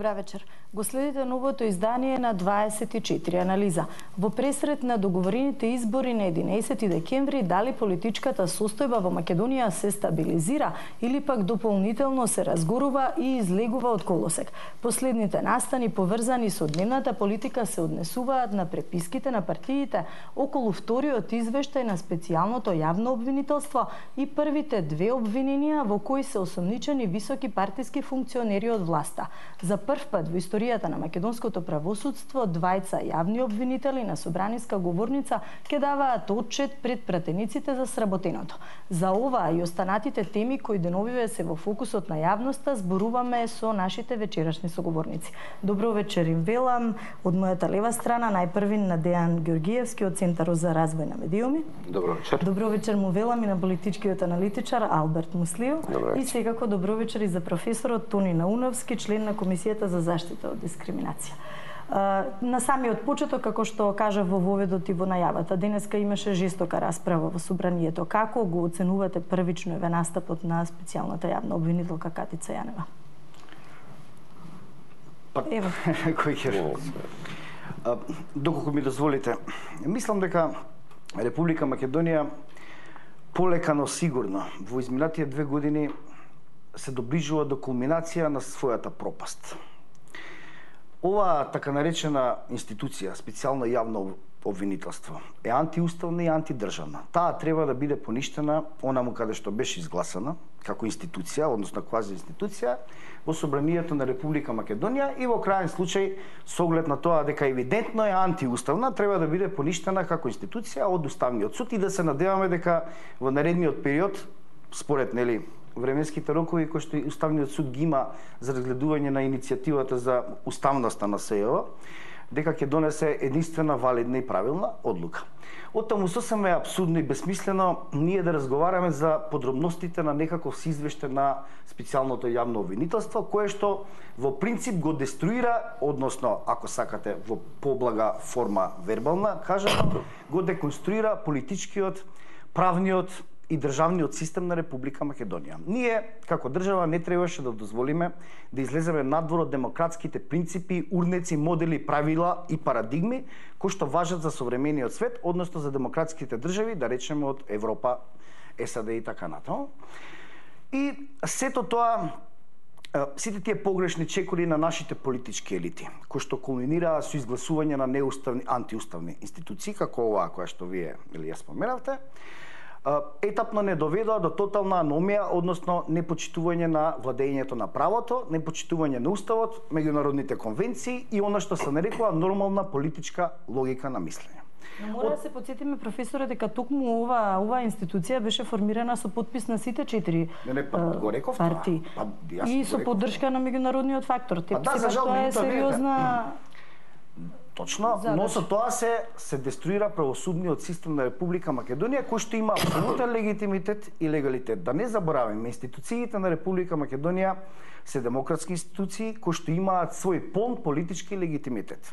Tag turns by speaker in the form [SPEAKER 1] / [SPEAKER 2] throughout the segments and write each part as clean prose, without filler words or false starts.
[SPEAKER 1] Добра вечер. Го следите новото издание на 24 анализа. Во пресред на договорените избори на 11 декември, дали политичката состојба во Македонија се стабилизира или пак дополнително се разгорува и излегува од колосек. Последните настани поврзани со дневната политика се однесуваат на преписките на партиите околу вториот извештај на специјалното јавно обвинителство и првите две обвиненија во кои се осомничени високи партиски функционери од власта. За прв пат во историјата на македонското правосудство двајца јавни обвинители на собраниска говорница ќе даваат отчет пред пратениците за сработеното. За ова и останатите теми кои деновиве се во фокусот на јавноста зборуваме со нашите вечерашни соговорници. Добро вечер им велам од мојата лева страна, најпрвин на Дејан Ѓоргиевски од Центарот за развој на медиуми.
[SPEAKER 2] Добро вечер.
[SPEAKER 1] Добро вечер му велам и на политичкиот аналитичар Алберт Муслио. И секако добро вечер и за професорот Тони Науновски, член на Комисијата за заштита од дискриминација. На самиот почеток, како што кажа во воведот и во најавата, денеска имаше жестока расправа во собранието. Како го оценувате првично еве настапот на специјалната јавна обвинителка Катица Јанева?
[SPEAKER 3] Ево. Кој ќе? Доколку ми дозволите, мислам дека Република Македонија полека, но сигурно во изминатите 2 години се доближува до кулминација на својата пропаст. Ова така наречена институција, специјално јавно обвинителство, е антиуставна и антидржавна. Таа треба да биде поништена онаму каде што беше изгласана како институција, односно квази институција, во собранието на Република Македонија и во крајен случај, со оглед на тоа дека евидентно е антиуставна, треба да биде поништена како институција од Уставниот суд и да се надеваме дека во наредниот период, според временските рокови кои што Уставниот суд ги има за разгледување на иницијативата за уставноста на СЈО, дека ќе донесе единствена, валидна и правилна одлука. Оттаму сосема е апсурдно и бесмислено ние да разговараме за подробностите на некаков извештај на специјалното јавно обвинителство, кое што во принцип го деструира, односно, ако сакате во поблага форма вербална, кажано, го деконструира политичкиот, правниот и државниот систем на Република Македонија. Ние, како држава, не требаше да дозволиме да излеземе надвор од демократските принципи, урнеци, модели, правила и парадигми кои што важат за современиот свет, односно за демократските држави, да речеме од Европа, САД и така натаму. И сето тоа, сите тие погрешни чекори на нашите политички елити, кои што кулминираа со изгласување на неуставни, антиуставни институции, како оваа која што вие ја споменавте, етапно не доведоа до тотална аномија, односно непочитување на владењето на правото, непочитување на уставот, меѓународните конвенции и она што се нарекува нормална политичка логика на мислење.
[SPEAKER 1] Но мора да се потсетиме, професоре, дека токму ова институција беше формирана со подпис на сите 4 партии и со поддршка на меѓународниот фактор. Тоа е сериозна.
[SPEAKER 3] Точно, но со тоа се деструира правосудниот систем на Република Македонија, кој што има апсолутен легитимитет и легалитет. Да не забораваме, институциите на Република Македонија се демократски институции кои што имаат свој полн политички легитимитет.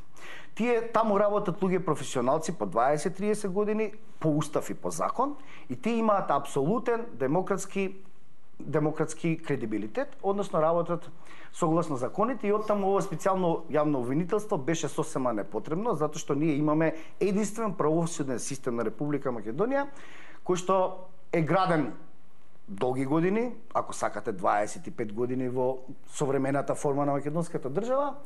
[SPEAKER 3] Тие таму работат луѓе професионалци по 20-30 години по устав и по закон и тие имаат апсолутен демократски кредибилитет, односно работат согласно законите и оттаму ова специјално јавно обвинителство беше сосема непотребно, затоа што ние имаме единствен правосуден систем на Република Македонија, кој што е граден долги години, ако сакате 25 години во современата форма на македонската држава,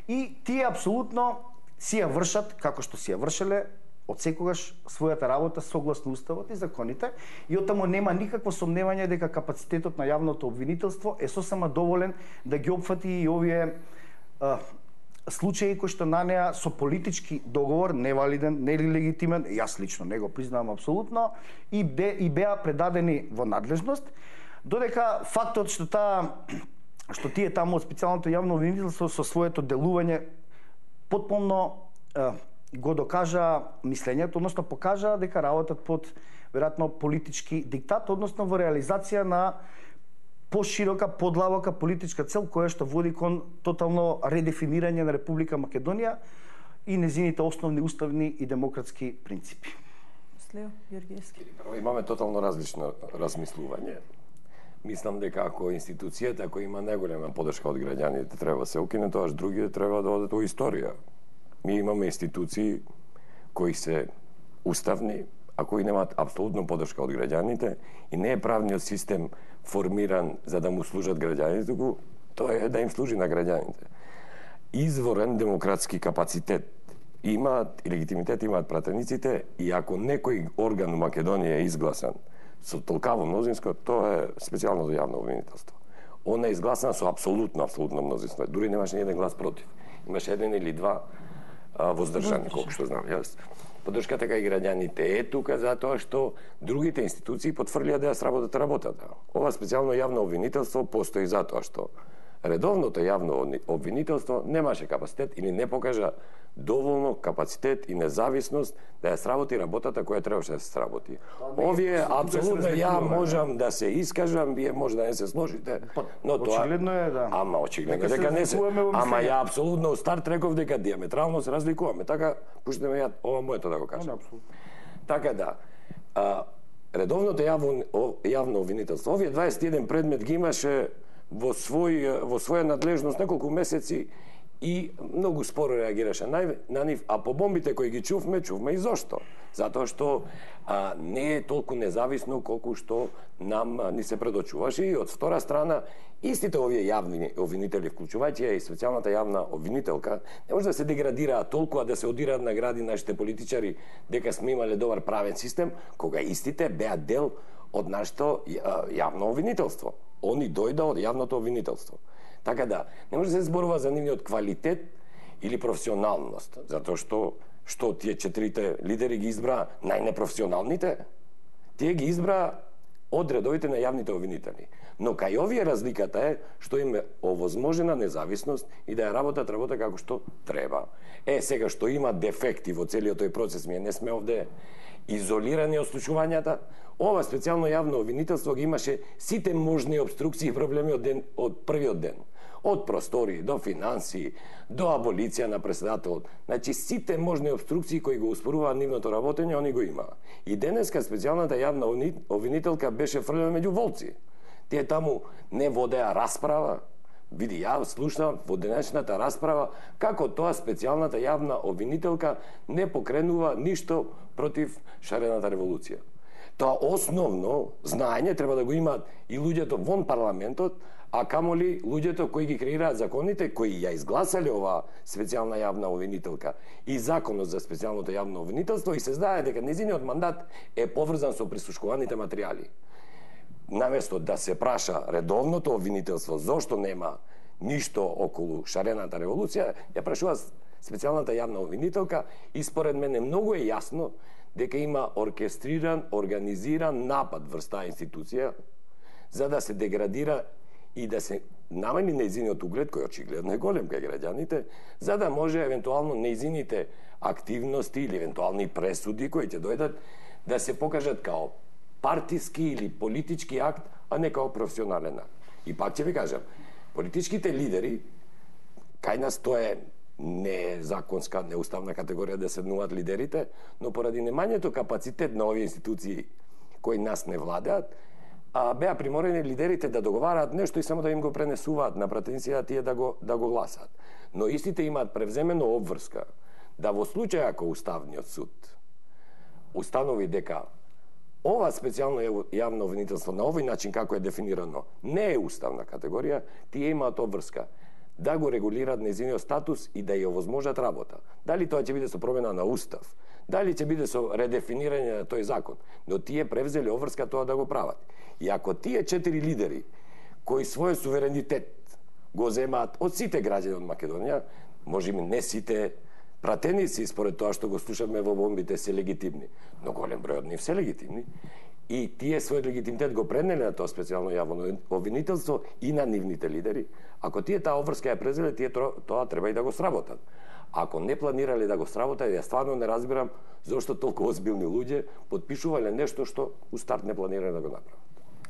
[SPEAKER 3] и тие апсолутно си ја вршат како што си ја вршеле од секогаш својата работа согласно уставот и законите и оттаму нема никакво сомневање дека капацитетот на јавното обвинителство е сосема доволен да ги опфати и овие случаи кои што на неа со политички договор, невалиден, нелегитимен, јас лично не го признавам апсолутно, и беа предадени во надлежност, додека фактот што тие таму од специјалното јавно обвинителство со своето делување потполно го докажа мислењето, односно покажа дека работат под веројатно политички диктат, односно во реализација на поширока, подлабока политичка цел која што води кон тотално редефинирање на Република Македонија и незините основни уставни и демократски принципи.
[SPEAKER 1] Слео Ѓоргиевски.
[SPEAKER 2] Имаме тотално различно размислување. Мислам дека ако институцијата која има најголема поддршка од граѓаните треба да се укине, тоа другите треба да одат во историја. Ми имаме институции кои се уставни, а кои немаат апсолутно поддршка од граѓаните и не е правниот систем формиран за да му служат граѓаните, туку тоа е да им служи на граѓаните. Изворен демократски капацитет имаат и легитимитет имаат пратениците и ако некој орган у Македонија е изгласан со толкаво мнозинство, тоа е специјалното јавно обвинителство. Она е изгласана со апсолутно мнозинство. Дури немаше ни еден глас против. Имаше еден или два воздржани, колку што знам јас. Поддршката кај граѓаните е тука затоа што другите институции потврлија да ја сработат работата. Ова специјално јавно обвинителство постои затоа што редовното јавно обвинителство немаше капацитет или не покажа доволно капацитет и независност да ја сработи работата која требаше да се сработи. Овие апсолутно ја можам да се искажам, вие може да не се сложите, но тоа
[SPEAKER 3] очигледно е да.
[SPEAKER 2] Ама очигледно дека не се. Ама ја апсолутно у старт реков дека диаметрално се разликуваме. Така пуштите ме ја ова моето да го кажам. Така да редовното јавно обвинителство, овие 21 предмет ги имаше во своја надлежност неколку месеци и многу споро реагираше на нив, а по бомбите кои ги чувме и зошто. Затоа што не е толку независно колку што нам ни се предочуваше и од втора страна истите овие јавни обвинители, вклучувајќи и специјалната јавна обвинителка, не може да се деградираат толку, а да се одираат награди нашите политичари дека сме имале добар правен систем, кога истите беа дел од нашето јавно обвинителство. Они дојда од јавното обвинителство. Така да, не може да се зборува за нивниот квалитет или професионалност, затоа што тие четирите лидери ги избра најнепрофесионалните, тие ги избра од редовите на јавните обвинители. Но кај овие разликата е што им е овозможена независност и да ја работат работа како што треба. Сега што има дефекти во целиот тој процес, ние не сме овде изолирани од случувањата, ова специјално јавно обвинителство ги имаше сите можни обструкции и проблеми од првиот ден. Од простори, до финанси, до аболиција на председателот. Значи, сите можни обструкции кои го успоруваат нивното работење, они го имаа. И денеска специјалната јавна обвинителка беше фрлена меѓу волци. Тие таму не водеа расправа. Види, ја слушнав во денешната расправа како тоа специјалната јавна обвинителка не покренува ништо против шарената револуција. Тоа основно знаење треба да го имаат и луѓето вон парламентот, а камоли луѓето кои ги креираат законите, кои ја изгласале оваа специјална јавна обвинителка и законот за специјалното јавно обвинителство и се знае дека нејзиниот мандат е поврзан со прислушкуваните материјали. Наместо да се праша редовното обвинителство зошто нема ништо околу шарената револуција, ја прашува специјалната јавна обвинителка и според мене многу е јасно дека има оркестриран, организиран напад врз таа институција за да се деградира и да се намали нејзиниот углед, кој очигледно е голем кај граѓаните, за да може евентуално нејзините активности или евентуални пресуди кои ќе дојдат да се покажат као партиски или политички акт, а не као професионален акт. И пак ќе ви кажам, политичките лидери, кај нас тоа е не законска, неуставна категорија да седнуваат лидерите, но поради немањето капацитет на овие институции кои нас не владеат, беа приморени лидерите да договараат нешто и само да им го пренесуваат на пратениција тие да го гласаат. Но истите имаат превземено обврска да во случај ако Уставниот суд установи дека ова специјално јавно обвинителство на овој начин како е дефинирано не е уставна категорија, тие имаат обврска да го регулираат нејзиниот статус и да ја овозможат работа. Дали тоа ќе биде со промена на устав, дали ќе биде со редефинирање на тој закон, но тие превзели обврска тоа да го прават. И ако тие 4 лидери кои својот суверенитет го земаат од сите граѓани од Македонија, можеби не сите пратеници според тоа што го слушаме во бомбите се легитимни, но голем број од нив се легитимни, и тие својот легитимитет го пренеле на тоа специјално јавно обвинителство и на нивните лидери, ако тие таа обврска ја презеле, тие тоа треба и да го сработат. Ако не планирале да го сработат, ја стварно не разбирам зошто толку озбилни луѓе потпишувале нешто што у старт не планирале да го направат.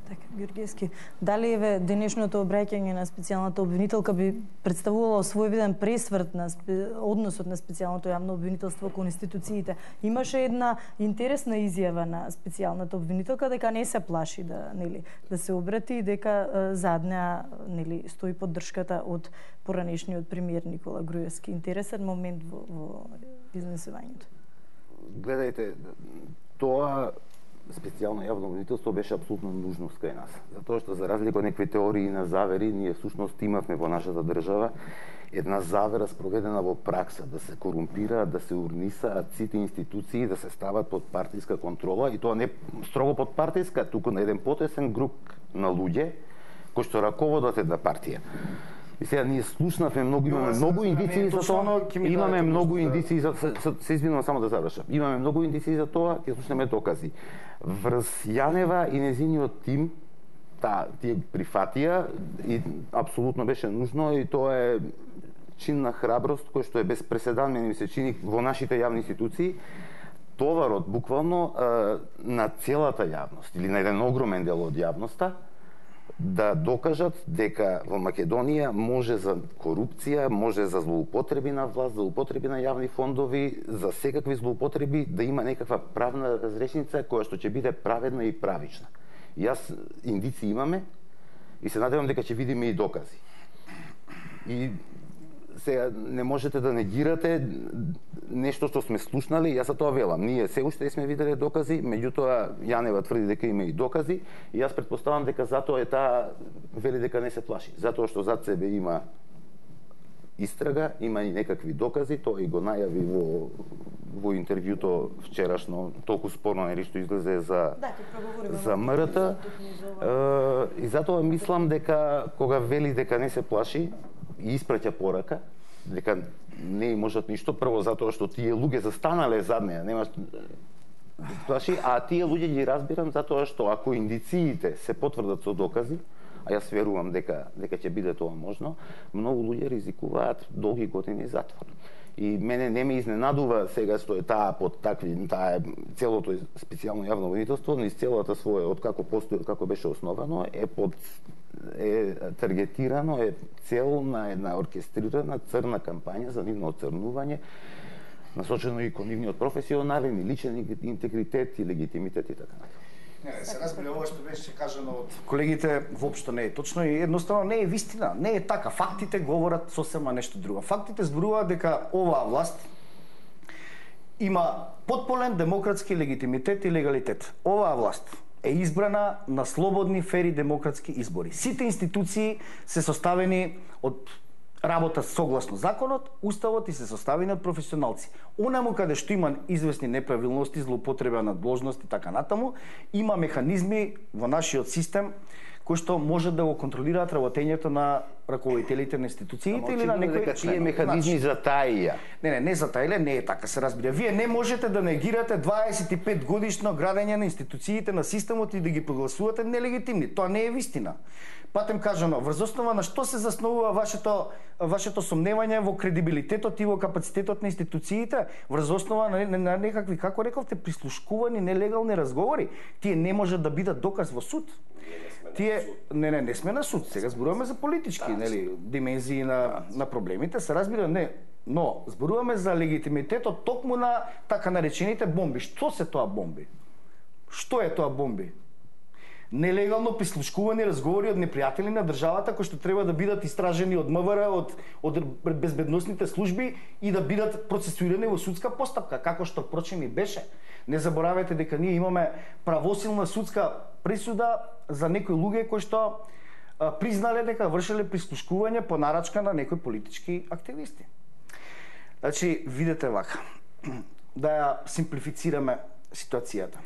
[SPEAKER 1] Така, Георгиевски, дали еве денешното обраќање на специјалната обвинителка би представувало својвиден пресврт на односот на специјалното јавно обвинителство кон институциите? Имаше една интересна изјава на специјалната обвинителка дека не се плаши да се обрати и дека зад неа стои поддршката од поранешниот премиер Никола Груевски. Интересен момент во изнесувањето.
[SPEAKER 4] Гледајте, тоа специјално јавно обвинителство беше апсолутно нужност кај нас. Затоа што за разлика од некои теории на завери, ние всушност имавме во нашата држава една завера спроведена во пракса, да се корумпираат, да се урнисаат сите институции, да се стават под партиска контрола, и тоа не строго под партиска, туку на еден потесен груп на луѓе кои што раководат една партија. И сега ние слушнавме многу, имаме многу индиции за тоа, имаме многу индиции за се извинувам само да завршам. Имаме многу индиции за тоа, ќе слушнеме докази. Врз Јанева и незиниот тим, тие прифатија и апсолутно беше нужно, и тоа е чин на храброст кој што е без преседан, мене ми се чини, во нашите јавни институции. Товарот буквално на целата јавност или на еден огромен дел од јавноста да докажат дека во Македонија може за корупција, може за злоупотреби на власт, злоупотреби на јавни фондови, за секакви злоупотреби, да има некаква правна разрешница која што ќе биде праведна и правична. Јас индици имаме и се надевам дека ќе видиме и докази. И сега не можете да негирате нешто што сме слушнали, јас за тоа велам. Ние се уште сме виделе докази, меѓутоа Јанева тврди дека има и докази, и јас претпоставам дека затоа е таа вели дека не се плаши, затоа што зад себе има истрага, има и некакви докази, тоа и го најави во интервјуто вчерашно, толку спорно нели што излезе за МРТ. И затоа мислам дека кога вели дека не се плаши и испраќа порака дека не и можат ништо, прво затоа што тие луѓе застанале зад неа, нема плаши, а тие луѓе ги разбирам затоа што ако индициите се потврдат со докази, а јас верувам дека ќе биде тоа можно, многу луѓе ризикуваат долги години затвор. И мене не ме изненадува сега што е таа под такви, таа целото специјално јавно обвинителство, низ целата своја, од како постои, од како беше основано, е таргетирано, е цел на една оркестрирана црна кампања за нивно оцрнување, насочено и кон нивниот професионален и личен интегритет и легитимитет и така натаму.
[SPEAKER 3] Не, се разбира ова што беше кажано од колегите, воопшто не е точно и едноставно не е вистина, не е така. Фактите говорат сосема нешто друго. Фактите зборуваат дека оваа власт има потполен демократски легитимитет и легалитет. Оваа власт е избрана на слободни, фери демократски избори. Сите институции се составени од работа согласно законот, уставот и се составени од професионалци. Онаму каде што има известни неправилности, злоупотреба на дложност и така натаму, има механизми во нашиот систем кои што може да го контролираат работењето на раководителите на институциите или на некои
[SPEAKER 4] тие механизми за таија.
[SPEAKER 3] Не за таија, не е така, се разбира. Вие не можете да негирате 25 годишно градење на институциите на системот и да ги прогласувате нелегитимни. Тоа не е вистина. Патем кажано, врз основа на што се заснувува вашето сомневање во кредибилитетот и во капацитетот на институциите, врз основа на некакви, како рековте, прислушкувани нелегални разговори, тие не може да бидат доказ во суд. Не сме на суд. Сега зборуваме за политички, димензии на проблемите, се разбира, не. Но зборуваме за легитимитетот токму на така наречените бомби. Што се тоа бомби? Што е тоа бомби? Нелегално прислушкувани разговори од непријатели на државата кои што треба да бидат истражени од МВР, од безбедносните служби и да бидат процесуирани во судска постапка, како што впрочем и беше. Не заборавете дека ние имаме правосилна судска присуда за некои луѓе кои што признале дека вршеле прислушкување по нарачка на некои политички активисти. Значи, видете вака, да ја симплифицираме ситуацијата.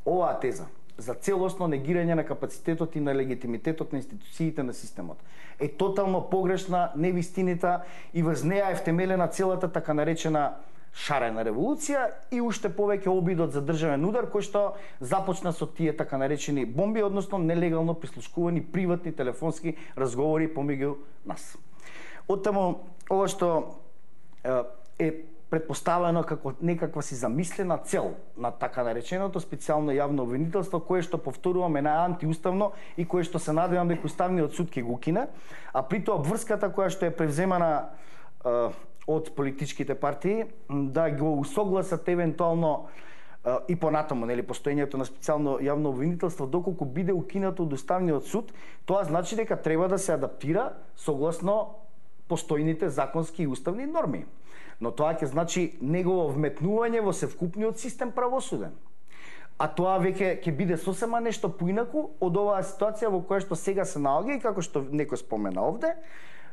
[SPEAKER 3] Оваа теза за целосно негирање на капацитетот и на легитимитетот на институциите на системот е тотално погрешна, невистинита и врз неа е втемелена целата така наречена шарена револуција и уште повеќе обидот за државен удар кој што започна со тие така наречени бомби, односно нелегално прислушкувани приватни телефонски разговори помеѓу нас. Оттаму, ова што е предпоставено како некаква си замислена цел на така нареченото специјално јавно обвинителство, кое што повторуваме на антиуставно и кое што се надевам дека Уставниот суд ќе го кине, а при тоа обврската која што е превземана од политичките партии да го усогласат евентуално и понатаму, нели, постоењето на специјално јавно обвинителство, доколку биде укинато од Уставниот суд, тоа значи дека треба да се адаптира согласно постојните законски и уставни норми. Но тоа ќе значи негово вметнување во севкупниот систем правосуден. А тоа веќе ќе биде сосема нешто поинаку од оваа ситуација во која што сега се наоѓа и како што некој спомена овде,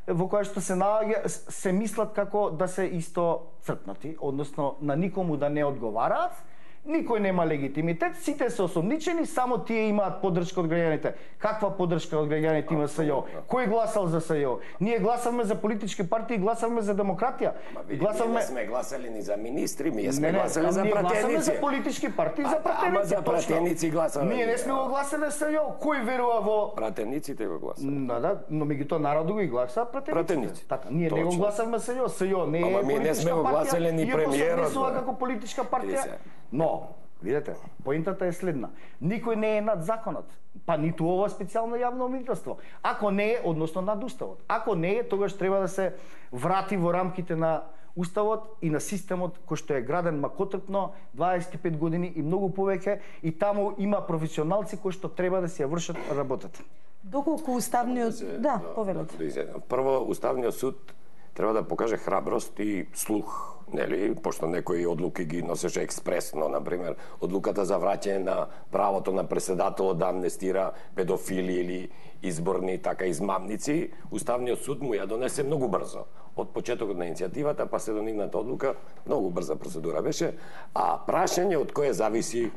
[SPEAKER 3] во која што се наоѓа, се мислат како да се исто црпнати, односно на никому да не одговараат, никој нема легитимитет, сите се осомничени, само тие имаат поддршка од граѓаните. Каква поддршка од граѓаните има СЈО? Кој гласал за СЈО? Ние гласавме за политички партии, гласавме за демократија.
[SPEAKER 2] Гласавме... Ние сме гласали ни за министри, ние сме гласали за пратеници.
[SPEAKER 3] Ние гласавме за политички партии, за пратеници.
[SPEAKER 2] Ама за пратеници гласавме.
[SPEAKER 3] Ние не сме го гласале СЈО. Кој верува во...
[SPEAKER 2] Пратениците го гласале.
[SPEAKER 3] Да, но меѓутоа народот го гласа пратениците. Така, ние не го гласавме СЈО. СЈО не е политичка партија.
[SPEAKER 2] Ама ние не сме го гласале ни премиерот.
[SPEAKER 3] Иако се како политичка партија. Но, видете, поинтата е следна. Никој не е над законот, па ниту ова специјално јавно обвинителство. Ако не е, односно над уставот. Ако не е, тогаш треба да се врати во рамките на уставот и на системот кој што е граден макотрпно 25 години и многу повеќе, и таму има професионалци кои што треба да си ја вршат работата.
[SPEAKER 1] Доколку уставниот, да, повелете.
[SPEAKER 2] Прво, Уставниот суд треба да покаже храброст и слух, нели, пошто некои одлуки ги носеше експресно, например, одлуката за враќање на правото на преседателот да амнестира педофили или изборни така измамници, Уставниот суд му ја донесе многу брзо. Од почетокот на иницијативата па се до нивната одлука, многу брза процедура беше, а прашање од кое зависи,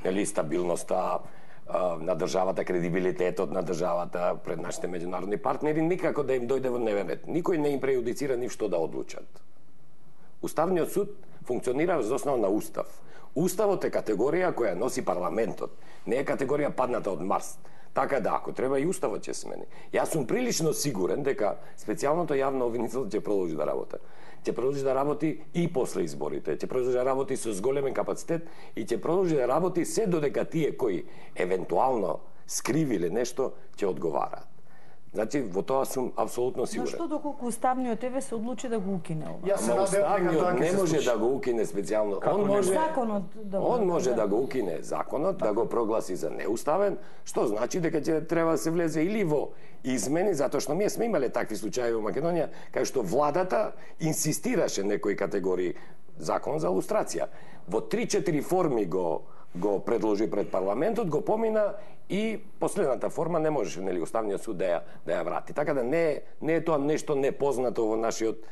[SPEAKER 2] нели, стабилноста на државата, кредибилитетот на државата пред нашите меѓународни партнери, никако да им дојде во дневен ред. Никој не им прејудицира ни што да одлучат. Уставниот суд функционира за основа на устав. Уставот е категорија која носи парламентот, не е категорија падната од Марс. Така да, ако треба и уставот ќе смени. Јас сум прилично сигурен дека специјалното јавно обвинителство ќе продолжи да работи. Ќе продолжи да работи и после изборите, ќе продолжи да работи со зголемен капацитет и ќе продолжи да работи се додека тие кои евентуално скривиле нешто ќе одговараат. Значи, во тоа сум апсолутно сигурен.
[SPEAKER 1] Зашто доколку Уставниот ЕВ се одлучи да го укине ова?
[SPEAKER 2] Уставниот не може да го укине специјално. Он може да го укине законот, да го прогласи за неуставен, што значи дека ќе треба да се влезе или во измени, затоа што ние сме имале такви случаи во Македонија, кај што владата инсистираше некои категории закон за лустрација. Во 3-4 форми го предложи пред парламентот, го помина и последната форма не можеше, нели, Уставниот суд да ја врати. Така да не е тоа нешто непознато во нашиот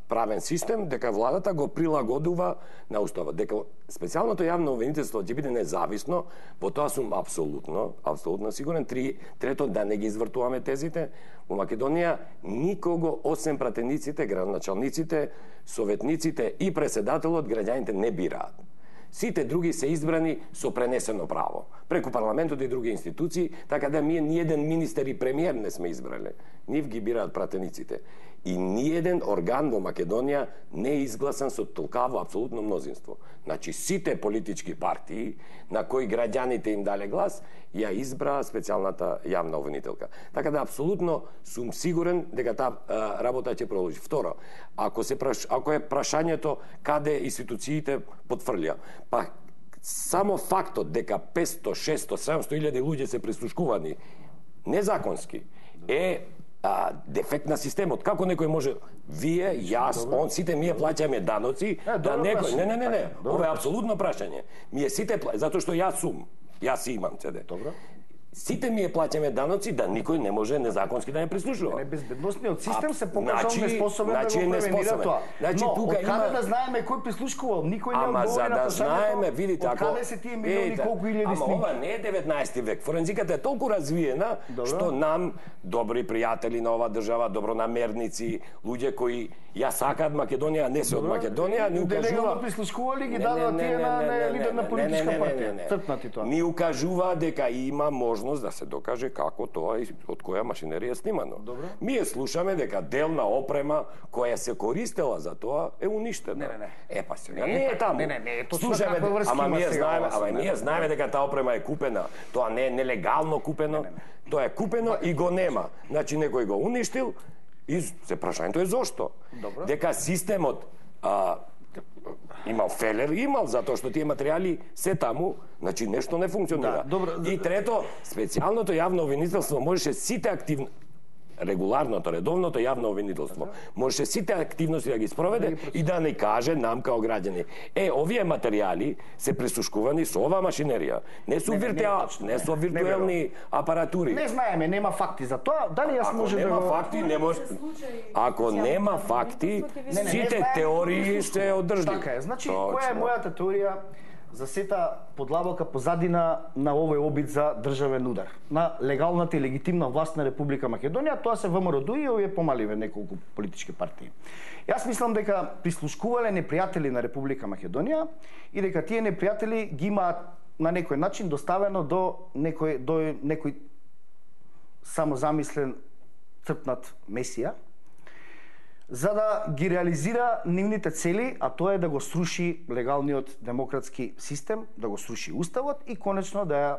[SPEAKER 2] правен систем, дека владата го прилагодува на уставот. Дека специјалното јавно обвинителство ќе биде независно, во тоа сум апсолутно сигурен. Трето, да не ги извртуваме тезите. Во Македонија никого осем пратениците, градоначалниците, советниците и преседателот граѓаните не бираат. Сите други се избрани со пренесено право, преку парламентот и други институции, така да ние ниеден министер и премиер не сме избрале. Нив ги бираат пратениците. И ниеден орган во Македонија не е изгласан со толкаво апсолутно мнозинство. Значи, сите политички партии на кои граѓаните им дале глас, ја избраа специјалната јавна обвинителка. Така да апсолутно сум сигурен дека таа работа ќе продолжи. Второ, ако е прашањето каде институциите потврлија, па само фактот дека 500, 600, 700 илјади луѓе се прислушкувани незаконски е дефект на системот. Како некој може, вие, јас, он, сите ние плаќаме даноци, да некој... Не. Ова е апсолутно прашање. Ние сите затоа што јас имам ЦД. Добро. Сите ние плаќаме даноци, да никој не може незаконски да не прислушува.
[SPEAKER 3] Безбедносниот систем се покажал неспособен да го превенира тоа. Но, од каде да знаеме кој прислушкувал? Никој не одговори на
[SPEAKER 2] прашањето.
[SPEAKER 3] Од каде се тие милиони, колку илјади снимки?
[SPEAKER 2] Ама ова не е 19 век. Форензиката е толку развиена, што нам, добри пријатели на оваа држава, добронамерници, луѓе кои ја сакаат Македонија, не се од Македонија, ни укажува...
[SPEAKER 3] Делегално прислушкували ги дадоа тие на лидер на политичка партија.
[SPEAKER 2] Ни укажува дека има можност да се докаже како тоа и од која машинерија е снимано. Добро. Ние слушаме дека делна опрема која се користела за тоа е уништена.
[SPEAKER 3] Не.
[SPEAKER 2] Па сега не е таму.
[SPEAKER 3] Не,
[SPEAKER 2] слушаме, ние знаеме дека таа опрема е купена. Тоа не е нелегално купено. Тоа е купено и го нема. Значи некој го уништил и се прашањето е зошто.
[SPEAKER 3] Добро.
[SPEAKER 2] Дека системот имал фелер, затоа што тие материјали се таму, значи нешто не функционира. И трето, специјалното јавно обвинителство можеше сите регуларното, редовното јавно обвинителство можеше сите активности да ги спроведе и да ни каже нам као граѓани. Овие материјали се пресушкувани со ова машинерија. Не со виртуелни апаратури.
[SPEAKER 3] Не знаеме, нема факти за тоа. Дали јас може да
[SPEAKER 2] нема факти, не може. Ако нема факти, сите теории се одржливи.
[SPEAKER 3] Така е. Значи, која е мојата теорија за сета подлабока позадина на овој обид за државен удар на легалната и легитимна власт на Република Македонија? Тоа се ВМРО и овие помаливе неколку политички партии. Јас мислам дека прислушкувале непријатели на Република Македонија и дека тие непријатели ги имаат на некој начин доставено до некој самозамислен црпнат месија, за да ги реализира нивните цели, а тоа е да го сруши легалниот демократски систем, да го сруши уставот и конечно да ја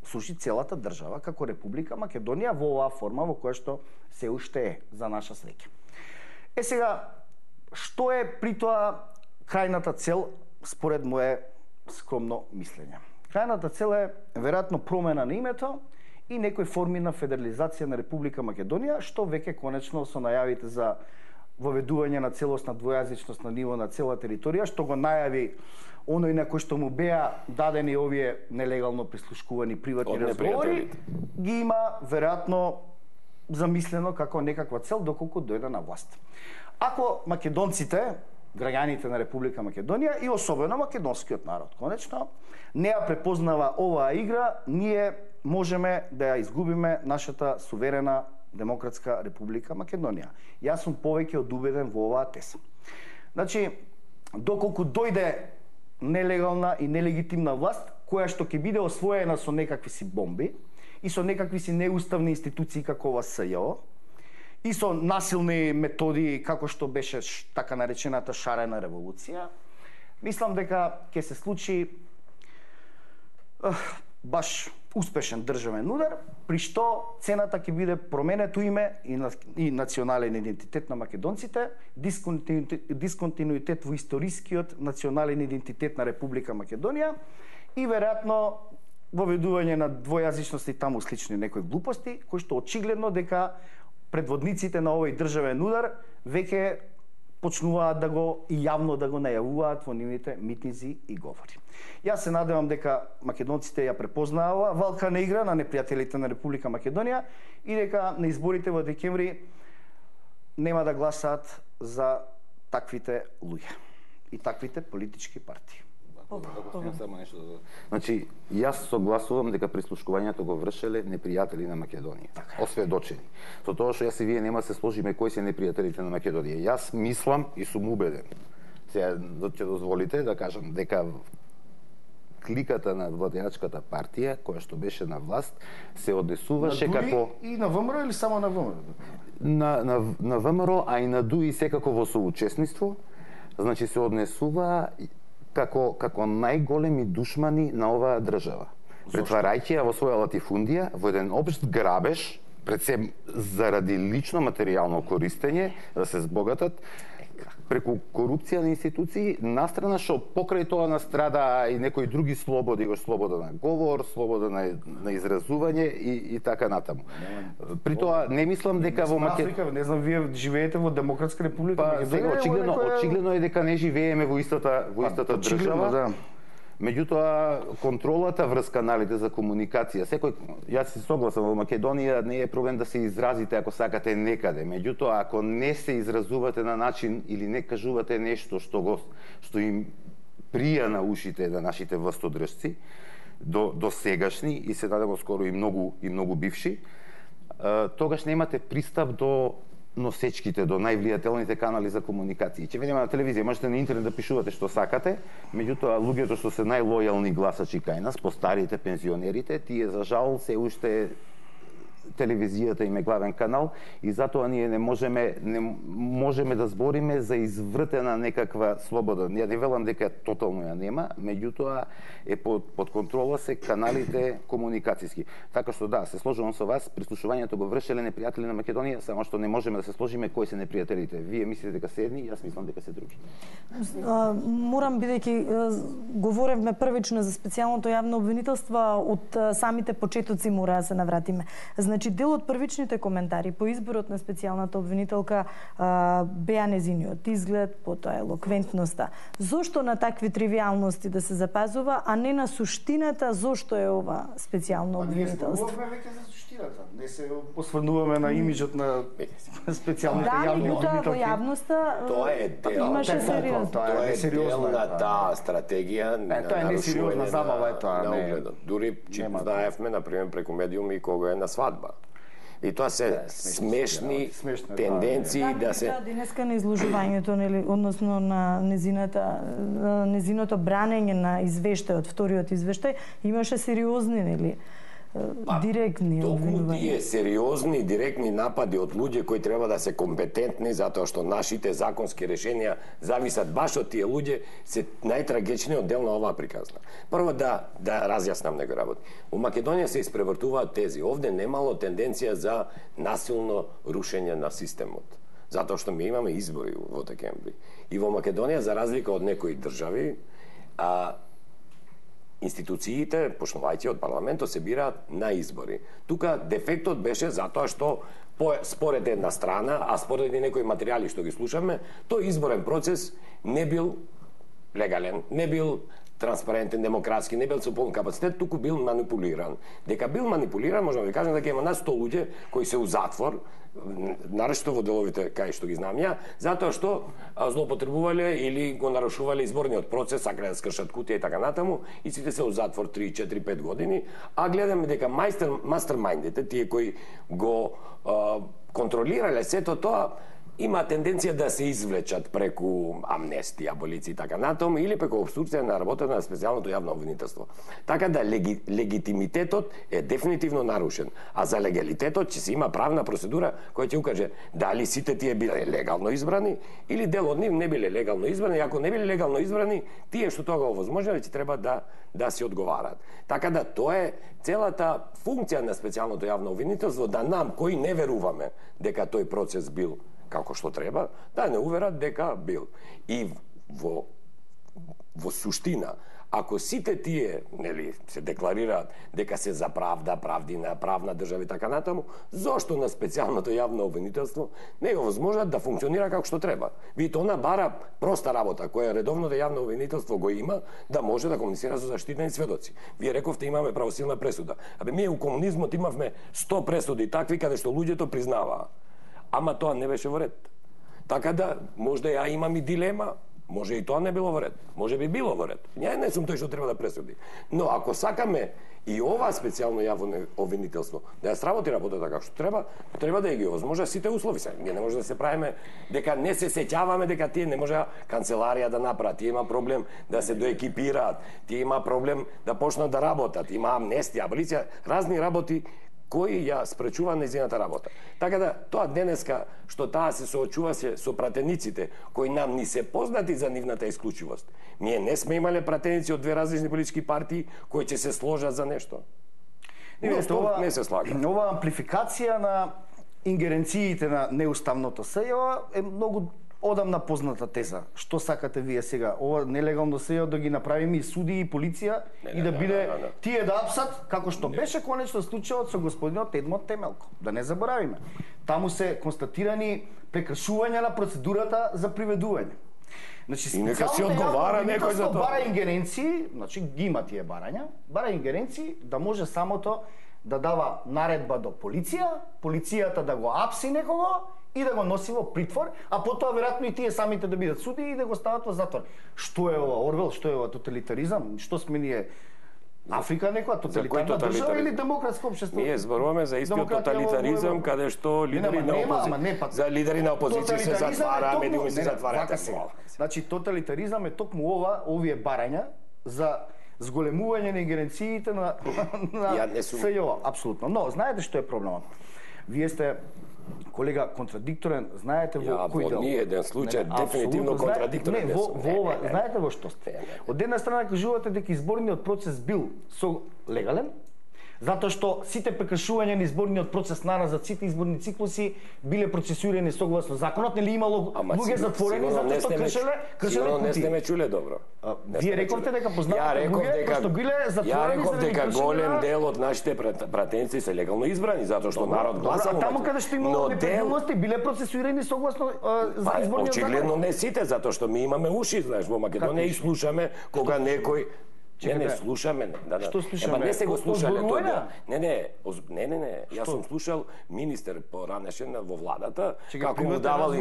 [SPEAKER 3] сруши целата држава како Република Македонија во оваа форма во која што се уште е, за наша среќа. Сега, што е при тоа крајната цел според мое скромно мислење? Крајната цел е веројатно промена на името и некои форми на федерализација на Република Македонија, што веќе конечно со најавите за воведување на целосна двојазичност на ниво на цела територија, што го најави оној на кој што му беа дадени овие нелегално прислушкувани приватни разговори, ги има веројатно замислено како некаква цел доколку дојде на власт. Ако македонците, граѓаните на Република Македонија и особено македонскиот народ, конечно, не ја препознава оваа игра, ние можеме да ја изгубиме нашата суверена Демократска Република Македонија. Јас сум повеќе од убеден во оваа теза. Значи, доколку дојде нелегална и нелегитимна власт, која што ќе биде освоена со некакви си бомби и со некакви си неуставни институции како ова СЈО и со насилни методи како што беше така наречената шарена револуција, мислам дека ќе се случи баш успешен државен удар, при што цената ќе биде променето име и национален идентитет на македонците, дисконтинуитет во историскиот национален идентитет на Република Македонија и веројатно воведување на двојазичност и таму слични некои глупости, кои што очигледно дека предводниците на овој државен удар веќе почнуваат да го и јавно да го најавуваат во нивните митинзи и говори. Јас се надевам дека македонците ја препознаава валкана игра на непријателите на Република Македонија и дека на изборите во декември нема да гласаат за таквите луѓе и таквите политички партии.
[SPEAKER 4] Значи, јас согласувам дека прислушкувањето го вршеле непријатели на Македонија, осведочени. Со тоа што јас и вие нема се сложиме кои се непријателите на Македонија. Јас мислам и сум убеден. Сега ќе дозволите да кажам дека кликата на владеачката партија, која што беше на власт, се однесуваше како
[SPEAKER 3] и на ВМРО или само на ВМРО?
[SPEAKER 4] На ВМРО, а и на ДУИ секако во соучесниство, значи се однесува како најголеми душмани на оваа држава. Претварајќи ја во своја латифундија, во еден општ грабеж, пред се заради лично материјално користење, да се збогатат, преку корупција на институции, настрана што покрај тоа настрада и некои други слободи, слобода на говор, слобода на изразување и така натаму. При тоа не мислам дека во
[SPEAKER 3] Македонија, не знам, вие живеете во Демократска Република
[SPEAKER 4] Македонија. Очигледно е дека не живееме во истата држава. Меѓутоа, контролата врз каналите за комуникација, јас се согласам, во Македонија не е проблем да се изразите ако сакате некаде. Меѓутоа, ако не се изразувате на начин или не кажувате нешто што им прија на ушите на нашите властодржци, до сегашни и се надевам скоро и многу бивши, тогаш немате пристап до носечките до највлијателните канали за комуникација. Ќе видиме на телевизија, можете на интернет да пишувате што сакате, меѓутоа луѓето што се најлојални гласачи кај нас, постарите, пензионерите, тие за жал се уште телевизијата им е главен канал и затоа ние не можеме да збориме за извртена некаква слобода. Ја не велам дека тотално ја нема, меѓутоа е под контрола се каналите комуникацијски. Така што да, се сложувам со вас, прислушувањето го вршеле непријатели на Македонија, само што не можеме да се сложиме кои се непријателите. Вие мислите дека се едни, јас мислам дека се други.
[SPEAKER 1] Морам, бидејќи говоревме првично за специјалното јавно обвинителство, од самите почетоци мора да се навратиме. Значи, дел од првичните коментари по изборот на специјалната обвинителка беа незиниот изглед, потоа елоквентноста. Зошто на такви тривијалности да се запазува, а не на суштината зошто е ова специјално обвинителство?
[SPEAKER 3] Ние зборуваме веќе за суштината. Не се посврнуваме на имиџот на специјалните јавни обвинителки.
[SPEAKER 1] Во јавноста
[SPEAKER 2] тоа е дел.
[SPEAKER 1] Имаше сериозно.
[SPEAKER 2] Тоа е дел на таа стратегија на
[SPEAKER 3] тоа е несериозна забава, тоа не.
[SPEAKER 2] Дури знаевме на пример преку медиуми кога е на свадба. И тоа се смешни тенденции да се...
[SPEAKER 1] Да, денеска на изложувањето, нели, односно на незиното бранење на извештајот, вториот извештај, имаше сериозни, нели, директни
[SPEAKER 2] обвинувања. Толку тие сериозни директни напади од луѓе кои треба да се компетентни, затоа што нашите законски решенија зависат баш од тие луѓе, се најтрагичниот дел на оваа приказна. Прво да разјаснам некои работи. У Македонија се испревртуваат тези. Овде немало тенденција за насилно рушење на системот. Затоа што ми имаме избори во декември. И во Македонија, за разлика од некои држави, институциите, почнувајќи од парламентот, се бираат на избори. Тука дефектот беше затоа што според една страна, а според и некои материјали што ги слушаме, тој изборен процес не бил легален, не бил транспарентен, демократски, не бил со полн капацитет, туку бил манипулиран. Дека бил манипулиран, можам да ви кажем дека има над 100 луѓе кои се у затвор, нарешто во деловите кај што ги знам ја, затоа што злоупотребувале или го нарушувале изборниот процес, сакале да скршат кутија и така натаму, и сите се у затвор 3, 4, 5 години, а гледаме дека мастермајндите, тие кои го контролирале сето тоа, има тенденција да се извлечат преку амнестија, аболиција и така натаму, или преку обструкција на работата на специјалното јавно обвинителство. Така да легитимитетот е дефинитивно нарушен, а за легалитетот ќе се има правна процедура која ќе укаже дали сите тие биле легално избрани или дел од нив не биле легално избрани, и ако не биле легално избрани, тие што тоа го овозможниле ќе треба да се одговараат. Така да тоа е целата функција на специјалното јавно обвинителство, да нам кои не веруваме дека тој процес бил како што треба, да не уверат дека бил. И во суштина, ако сите тие, нели, се декларираат дека се за правда, правдина, правна држава и така натаму, зошто на специјалното јавно обвинителство не е возможно да функционира како што треба? Видите, она бара проста работа која редовното јавно обвинителство го има, да може да комуницира со заштитени сведоци. Вие рековте имаме правосилна пресуда. Ние у комунизмот имавме 100 пресуди такви каде што луѓето признаваа. Ама тоа не беше во ред. Така да, можда ја имам и дилема, може и тоа не било во ред, може би било во ред. Ја не сум тој што треба да пресуди. Но ако сакаме и ова специјално јавно обвинителство да ја сработи работата како што треба да ја ги овозможа сите услови. Ние не може да се правиме дека не се сеќаваме дека тие не може канцеларија да направат, тие има проблем да се доекипираат, тие има проблем да почнат да работат, има амнестија, аболиција, разни работи кои ја спречува нејзината работа. Така да, тоа денеска, што таа се соочува со пратениците, кои нам ни се познати за нивната исклучивост. Ние не сме имале пратеници од две различни политички партии кои ќе се сложат за нешто. Не се слага.
[SPEAKER 3] Ова амплификација на ингеренциите на неуставното СЈО е многу одамна позната теза. Што сакате вие сега? Ова нелегално СЈО да ги направиме и суди и полиција и да биде тие да апсат, како што беше конечно случајот со господинот Едмот Темелко. Да не заборавиме. Таму се констатирани прекршувања на процедурата за приведување. Значи,
[SPEAKER 2] и нека си одговара некој за тоа.
[SPEAKER 3] Бара ингеренции, значи ги има тие барања, бара ингеренции да може самото да дава наредба до полиција, полицијата да го апси некого и да го носи во притвор, а потоа веројатно и тие самите да бидат суди и да го стават во затвор. Што е ова Орвел, што е ова тоталитаризам? Што сме ние Африка некоја тоталитарна држава или демократско општество?
[SPEAKER 2] Ние зборуваме за истиот тоталитаризам каде што лидери на опозиција се затвара, медиуми се затвараат.
[SPEAKER 3] Значи тоталитаризам е токму овие барања за зголемување на ингеренциите на СЈО, апсолутно. Но знаете што е проблемот? Вие сте колега контрадикторен, знаете во кој дел?
[SPEAKER 2] Во ни еден случај дефинитивно контрадикторен.
[SPEAKER 3] Знаете во што сте? Од една страна кажувате дека изборниот процес бил легален, затоа што сите прекршувања на изборниот процес назад, сите изборни циклуси биле процесуирани согласно законот, нели имало луѓе затворени затоа што кршеле
[SPEAKER 2] кутии. Не сте ме чуле добро.
[SPEAKER 3] Вие рековте дека познавате луѓе кои што биле затворени.
[SPEAKER 2] Ја реков дека голем дел од нашите пратеници се легално избрани затоа што народ гласал.
[SPEAKER 3] А таму каде што имало неправилности биле процесуирани согласно изборниот закон.
[SPEAKER 2] Очигледно не сите, затоа што ми имаме уши, знаеш, во Македонија и слушаме кога некој Не, слушаме.
[SPEAKER 3] Што слушаме?
[SPEAKER 2] Не се го слушале тоа. Не. Јас сум слушал министер поранешен во владата, како му давал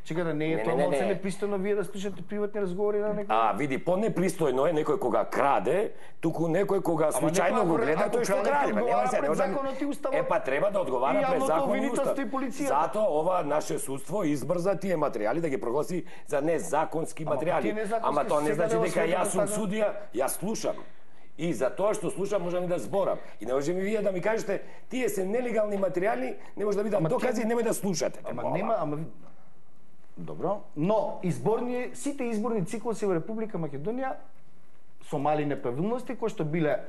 [SPEAKER 3] Чекајте, не е тоа малце непристојно вие да слушате приватни разговори на некој?
[SPEAKER 2] Види, понепристојно е некој кога краде, туку некој кога случајно го гледа тој што краде. Па треба да одговара пред закон и устав. Затоа ова наше судство избрза тие материјали да ги прогласи за незаконски материјали. Ама тоа не значи дека јас сум судија, јас слушам. И за тоа што слушам можам и да зборам. И не може ми вие да ми кажете тие се нелегални материјали, не може да видам докази, немој да слушате.
[SPEAKER 3] Добро, но сите изборни циклуси во Република Македонија со мали неправилности кои што биле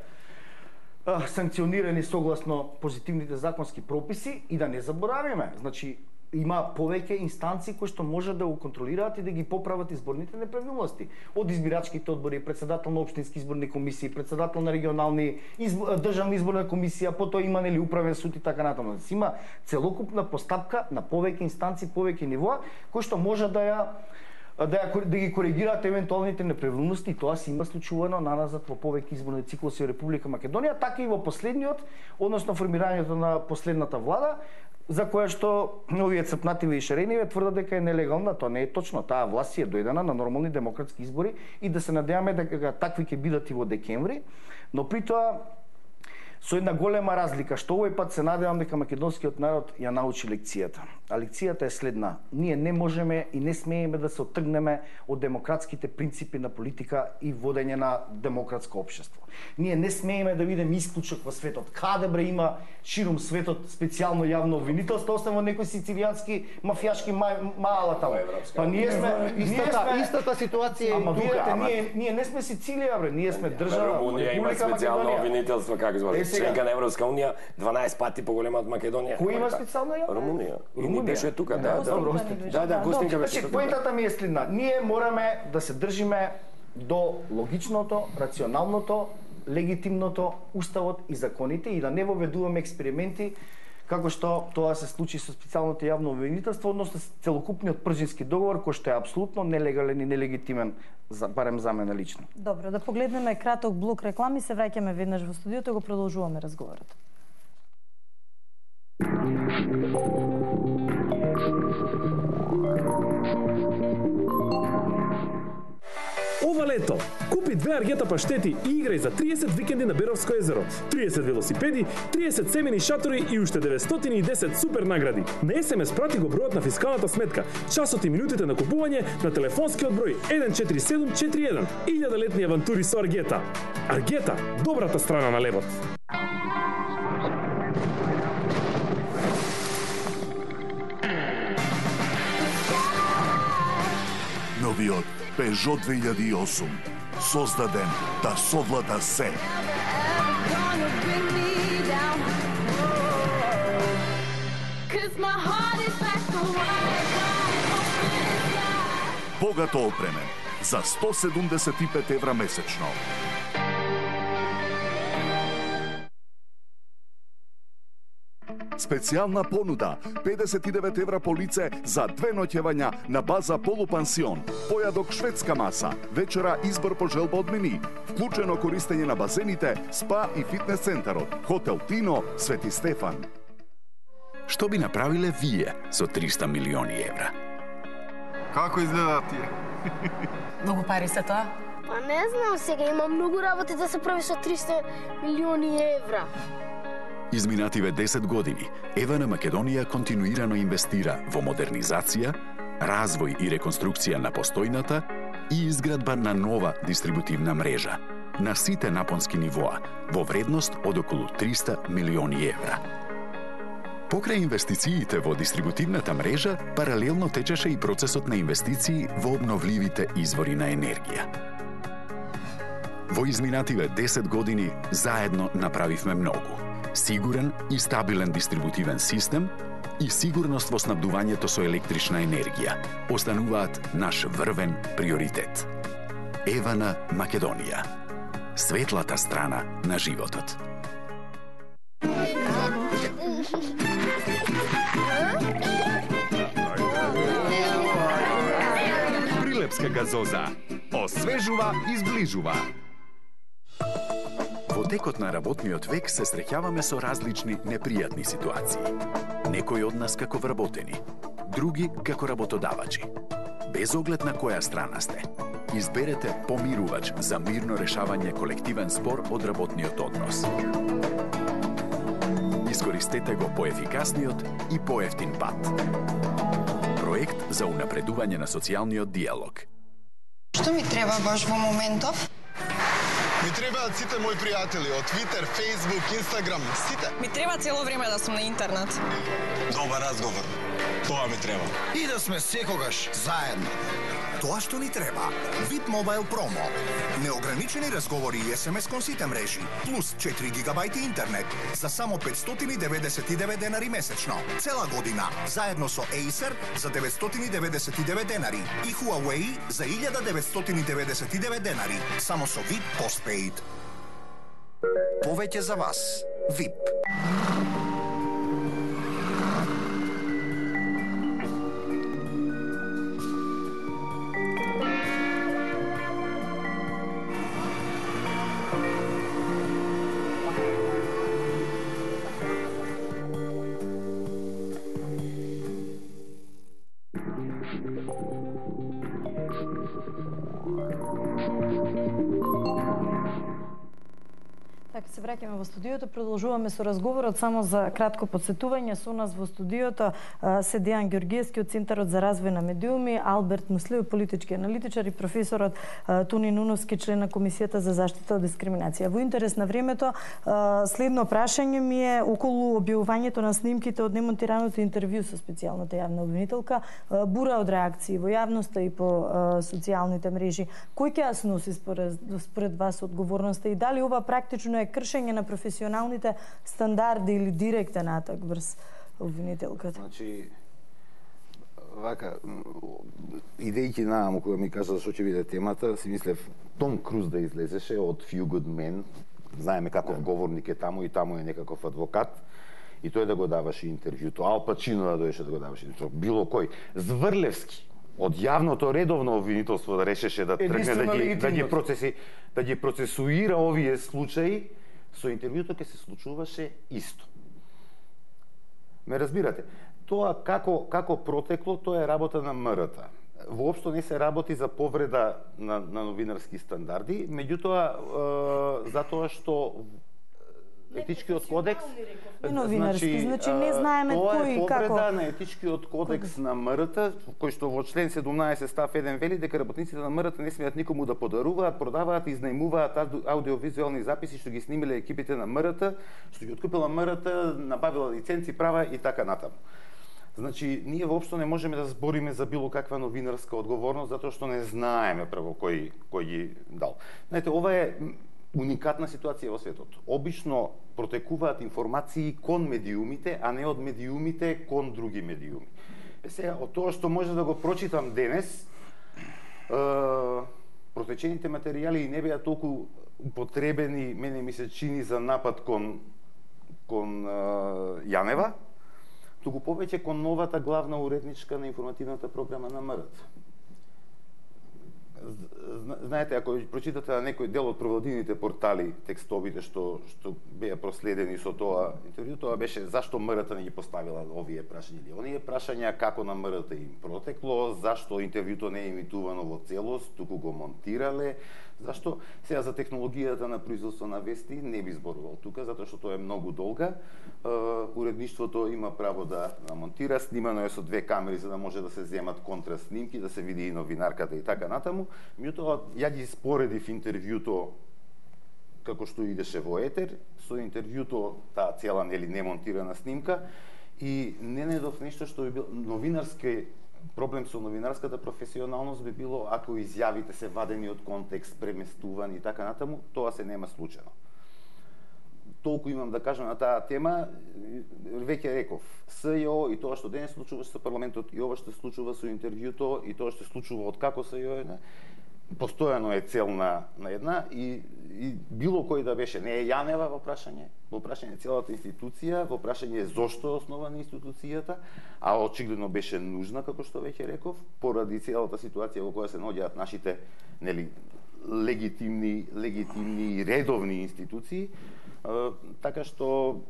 [SPEAKER 3] санкционирани согласно позитивните законски прописи и да не заборавиме. Значи има повеќе инстанции кои што може да го контролираат и да ги поправат изборните неправилности. Од избирачките одбори, председател на општински изборни комисии, председател на регионални државна изборна комисија, потоа има нели управен суд и така натаму. Има целокупна постапка на повеќе инстанции, повеќе нивоа кои што може да ги коригираат евентуалните неправилности и тоа се има случувано наназад во повеќе изборни циклуси во Република Македонија, така и во последниот, односно формирањето на последната влада, за која што овие Црпнативе и Шарениве тврдат дека е нелегална. Тоа не е точно. Таа власт е дојдена на нормални демократски избори и да се надеваме дека такви ќе бидат и во декември, но при тоа со една голема разлика, што овој пат се надевам дека македонскиот народ ја научи лекцијата. А лекцијата е следна. Ние не можеме и не смееме да се отргнеме од демократските принципи на политика и водење на демократско општество. Ние не смееме да видиме исклучок во светот. Каде бре има ширум светот специјално јавно обвинителство, освен во некој сицилијански мафијашки мала таму. Па ние сме
[SPEAKER 4] истата ситуација
[SPEAKER 3] и тука. Ние не сме Сицилија, бре, ние сме држава.
[SPEAKER 2] Румунија има специјално обвинителство, како збори, членка на Европска унија, 12 пати поголема од Македонија.
[SPEAKER 3] Кој има специјално јавно?
[SPEAKER 2] Румунија. И беше тука, да.
[SPEAKER 3] Гостинка беше тука. Поентата ми е следна. Ние мораме да се држиме до логичното, рационалното, легитимното, уставот и законите и да не воведуваме експерименти како што тоа се случи со специјалното јавно обвинителство, односно целокупниот пржински договор кој што е апсолутно нелегален и нелегитимен, барем за мене лично.
[SPEAKER 1] Добро, да погледнеме краток блок реклами, се враќаме веднаш во студиото и го продолжуваме разговорот.
[SPEAKER 5] Ова лето, купи 2 аргета паштети и играј за 30 викенди на Беровско езеро, 30 велосипеди, 30 семени шатори и уште 910 супер награди. На СМС прати го бројот на фискалната сметка, часот и минутите на купување на телефонскиот број 14741. 1000-летни авантури со Аргета. Аргета, добрата страна на левот.
[SPEAKER 6] Новиот Peugeot 2008, создаден да совлада се. Богато опремен за 175 евра месечно. Специјална понуда 59 евра по лице за 2 ноќевања на база полупансион, појадок шведска маса, вечера избор по желба од мени, вклучено користење на базените, спа и фитнес центарот, хотел Тино, Свети Стефан.
[SPEAKER 7] Што би направиле вие со 300 милиони евра?
[SPEAKER 8] Како изгледа тие?
[SPEAKER 9] Многу пари се тоа.
[SPEAKER 8] Па не знам сега, има многу работи да се прави со 300 милиони евра.
[SPEAKER 7] Изминативе 10 години, Евана Македонија континуирано инвестира во модернизација, развој и реконструкција на постојната и изградба на нова дистрибутивна мрежа на сите напонски нивоа во вредност од околу 300 милиони евра. Покрај инвестициите во дистрибутивната мрежа, паралелно течеше и процесот на инвестиции во обновливите извори на енергија. Во изминативе 10 години заедно направивме многу. Сигурен и стабилен дистрибутивен систем и сигурност во снабдувањето со електрична енергија остануваат наш врвен приоритет. Евана Македонија. Светлата страна на животот.
[SPEAKER 9] Прилепска газоза. Освежува и зближува.
[SPEAKER 7] Во текот на работниот век се среќаваме со различни непријатни ситуации. Некои од нас како вработени, други како работодавачи. Без оглед на која страна сте, изберете помирувач за мирно решавање колективен спор од работниот однос. Искористете го поефикасниот и поевтин пат. Проект за унапредување на социјалниот диалог.
[SPEAKER 10] Што ми треба баш во моментов?
[SPEAKER 11] Ми требаат сите мои пријатели од Twitter, Facebook, Instagram, сите.
[SPEAKER 10] Ми треба цело време да сум на интернет.
[SPEAKER 11] Добар разговор. Тоа ми треба.
[SPEAKER 12] И да сме секогаш заедно. Тоа што ни треба. VIP Mobile Promo. Неограничени разговори и SMS кон сите мрежи, плюс 4 гигабајти интернет за само 599 денари месечно. Цела година, заедно со Acer за 999 денари и Huawei за 1999 денари, само со VIP Postpaid. Повеќе за вас. VIP.
[SPEAKER 1] Се враќаме во студиото, продолжуваме со разговорот. Само за кратко подсетување, со нас во студиото се Дејан Ѓоргиевски од Центарот за развој на медиуми, Алберт Муслиев, политички аналитичар, и професорот Туни Нуновски, член на Комисијата за заштита од дискриминација. Во интерес на времето, следно прашање ми е околу објавувањето на снимките од немонтираното интервју со специјалната јавна обвинителка, бура од реакции во јавноста и по социјалните мрежи. Кој ќе ја сноси според вас одговорноста и дали ова практично е кршење на професионалните стандарди или директен атак врз обвинителката?
[SPEAKER 4] Значи, вака, идејќи нааму кога ми кажа што ќе биде темата, си мислев Том Круз да излезеше од Few Good Men, знаеме каков говорник е таму и таму е некаков адвокат, и тој да го даваше интервјуто. Ал Пачино да дојдеше да го даваше интервјуто. Било кој. Зврлевски од јавното редовно обвинителство да решеше да тргне да ги процесуира овие случаи, со интервјуто ќе се случуваше исто. Ме разбирате? Тоа како протекло, тоа е работа на МРТ. Воопшто не се работи за повреда на новинарски стандарди, меѓутоа затоа што етичкиот кодекс
[SPEAKER 1] новинарски, значи не знаеме кој и како.
[SPEAKER 4] Тоа е повреда на етичкиот кодекс на МРТ, кој што во член 17 став 1 вели дека работниците на МРТ не смеат никому да подаруваат, продаваат и изнајмуваат аудиовизуелни записи што ги снимиле екипите на МРТ, што ги откупила МРТ, набавила лиценци, права и така натаму. Значи, ние воопшто не можеме да збориме за било каква новинарска одговорност, затоа што не знаеме прво кој ги дал. Знаете, ова е уникатна ситуација во светот. Обично протекуваат информации кон медиумите, а не од медиумите кон други медиуми. Сега, од тоа што може да го прочитам денес, протечените материјали не беа толку употребени, мене ми се чини, за напад кон Јанева, туку повеќе кон новата главна уредничка на информативната програма на МРТ. Знаете, ако прочитате на некој дел од провладините портали текстовите што беа проследени со тоа интервју, тоа беше зашто МРТ не ги поставила овие прашања или оние прашања, како на МРТ им протекло, зашто интервјуто не е емитувано во целост, туку го монтирале, Зашто? Сега за технологијата на производство на вести не би зборувал тука, затоа што тоа е многу долга. Уредништвото има право да монтира, снимано е со 2 камери за да може да се земат контраснимки, да се види и новинарката и така натаму. Меѓутоа, ја ги споредив интервјуто како што идеше во етер, со интервјуто таа цела немонтирана снимка и не најдов нешто што би било новинарски проблем со новинарската професионалност би било ако изјавите се вадени од контекст, преместувани и така натаму, тоа се нема случајно. Толку имам да кажам на таа тема, веќе реков, СЈО и тоа што денес случува со парламентот и ова што се случува со интервјуто и тоа што се случува од како СЈО постојано е цел на една и било кој да беше, не е Јанева во прашање целата институција, во прашање зошто е основана институцијата, а очигледно беше нужна, како што веќе реков, поради целата ситуација во која се наоѓаат нашите легитимни и редовни институции, така што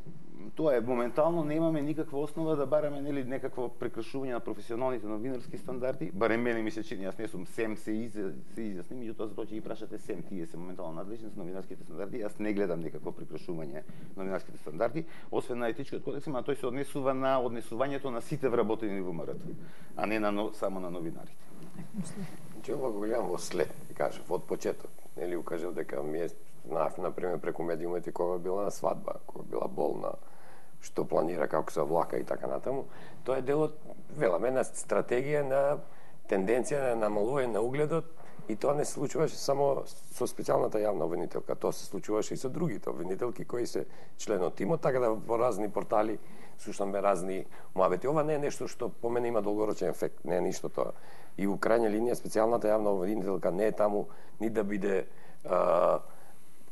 [SPEAKER 4] тоа е моментално немаме никаква основа да бараме некакво прекршување на професионалните новинарски стандарди. Барем мене ми се чини, јас не сум СЕМ се изјасни, меѓутоа затоа ќе ги прашате СЕМ, тие се моментално надлежни за новинарските стандарди. Јас не гледам никакво прекршување на новинарските стандарди, освен на етичкиот кодекс, а тој се однесува на однесувањето на сите вработени во МРТ, а не само на новинарите.
[SPEAKER 2] Че ова го гледам во след, кажав, од почеток. Нели укажав дека ми е знаев, например, преку медиумите кога била на свадба, кога била болна, што планира како се влака и така натаму. Тоа е дел од, веламе, на стратегија на тенденција на намалување на угледот и тоа не се случуваше само со специјалната јавна обвинителка, тоа се случуваше и со другите обвинителки кои се член од тимот, така да во разни портали слушаме разни муабети. Ова не е нешто што по мене има долгорочен ефект, не е ништо тоа. И у крајна линија специјалната јавна обвинителка не е таму ни да биде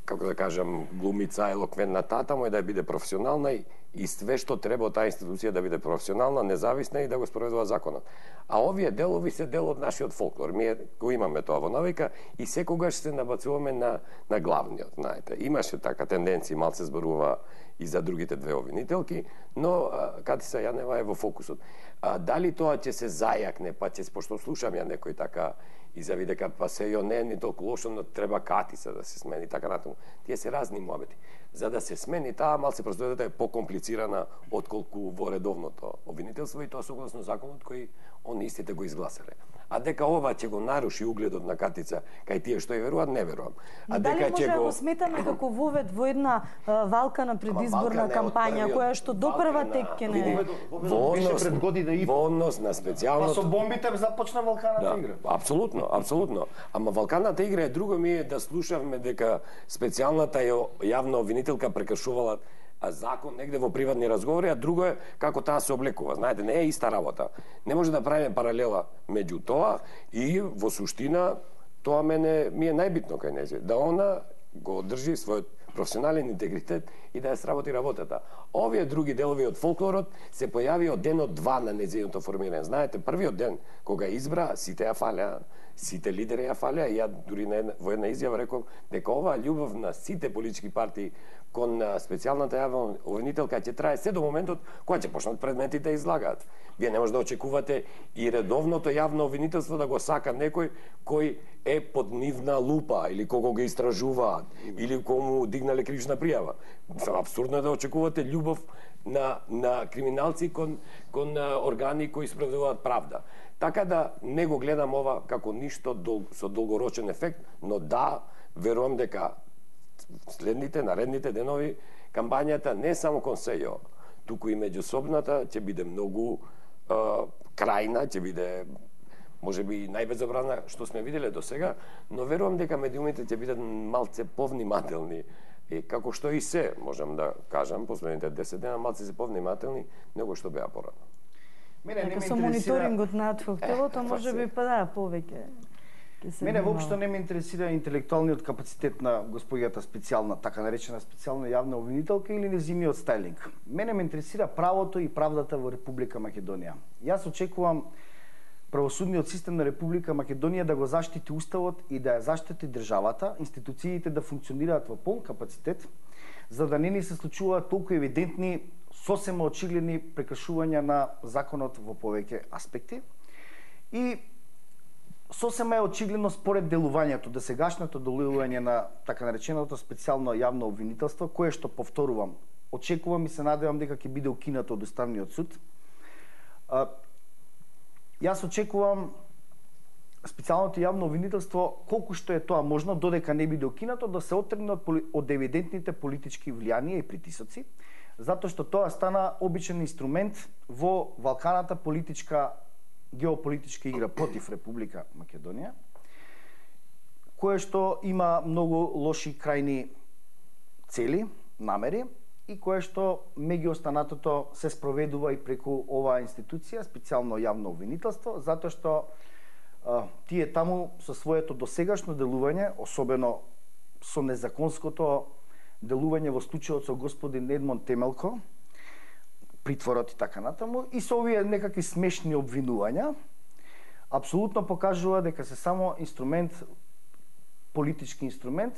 [SPEAKER 2] како да кажам, глумица, елоквентна, таму е да биде професионална и све што треба од таа институција да биде професионална, независна и да го спроведува законот. А овие делови се дел од нашиот фолклор. Ние го имаме тоа во навика и секогаш се набацуваме на главниот, знаете. Имаше така тенденција, малце зборува и за другите две обвинителки, но Катица Јанева е во фокусот. Дали тоа ќе се зајакне, па ќе, пошто слушам ја некој така изјави дека па СЈО не е ни толку лошо, но треба Катица да се смени, така натаму. Тие се разни муабети. За да се смени таа, малце процедурата е покомплицирана отколку во редовното обвинителство и тоа согласно законот кој он истите го изгласале. А дека ова ќе го наруши угледот на Катица кај тие што ја веруваат, не верувам. А
[SPEAKER 1] дали дека може да го сметаме како вовед во една валка на предизборна кампања која што допрва тек ќе не
[SPEAKER 2] беше пред година и во однос на специјалното.
[SPEAKER 3] Па со бомбите започна валканата игра.
[SPEAKER 2] Апсолутно. Ама валканата игра е друго, ми е да слушавме дека специјалната јавна обвинителка прекршувала закон негде во приватни разговори, а друго е како таа се облекува. Знаете, не е иста работа. Не може да правиме паралела меѓу тоа и во суштина тоа ми е најбитно кај нејзе, да она го одржи својот професионален интегритет и да ја сработи работата. Овие други делови од фолклорот се појави од денот 2 на нејзиното формирање. Знаете, првиот ден кога избра, сите ја фалеа, сите лидери ја фалеа и ја дури во една изјава реков дека оваа љубов на сите политички партии кон специјалната јавна обвинителка ќе трае се до моментот кога ќе почнат предметите да излагаат. Вие не може да очекувате и редовното јавно обвинителство да го сака некој кој е под нивна лупа или кого го истражуваат или кому дигнале кривична пријава. Апсурдно е да очекувате љубов на криминалци кон органи кои справедуваат правда. Така да не го гледам ова како ништо со долгорочен ефект, но да, верувам дека следните, наредните денови, кампањата не само кон СЈО, туку и меѓусобната ќе биде многу крајна, ќе биде можеби најбезобразна што сме виделе до сега, но верувам дека медиумите ќе бидат малце повнимателни. Како што и се, можам да кажам, последните 10 дена малце се повнимателни, него што беа порано.
[SPEAKER 1] Дека со мониторингот на фактовото можеби па да, повеќе.
[SPEAKER 3] Мене воопшто не ме интересира интелектуалниот капацитет на господјата специјална, така наречена специјална јавна обвинителка или незиниот стајлинг. Мене ме интересира правото и правдата во Република Македонија. Јас очекувам правосудниот систем на Република Македонија да го заштити уставот и да ја заштити државата, институциите да функционираат во полн капацитет, за да не ни се случуваат толку евидентни, сосема очигледни прекршувања на законот во повеќе аспекти. И сосема е очигледно според делувањето, досегашното делување на така нареченото специјално јавно обвинителство, кое што повторувам, очекувам и се надевам дека ќе биде укинато од Уставниот суд. Јас очекувам специјалното јавно обвинителство, колку што е тоа можно, додека не биде укинато, да се отргне од евидентните политички влијанија и притисоци, затоа што тоа стана обичен инструмент во валканата геополитичка игра против Република Македонија, кое што има многу лоши крајни цели, намери, и кое што меѓу останатото се спроведува и преку оваа институција, специјално јавно обвинителство, затоа што тие таму со своето досегашно делување, особено со незаконското делување во случајот со господин Едмон Темелко, притворот и така натаму, и со овие некакви смешни обвинувања, апсолутно покажува дека се само инструмент, политички инструмент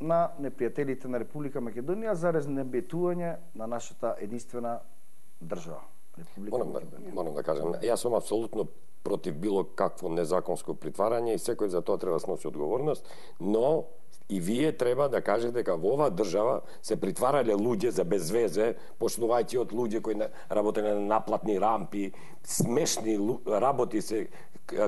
[SPEAKER 3] на непријателите на Република Македонија за разнебетување на нашата единствена држава.
[SPEAKER 2] Морам да кажам, јас сум апсолутно против било какво незаконско притварање и секој за тоа треба да сноси одговорност, но и вие треба да кажете дека во оваа држава се притварале луѓе за безвезе, почнувајќи од луѓе кои работеле на наплатни рампи, смешни работи се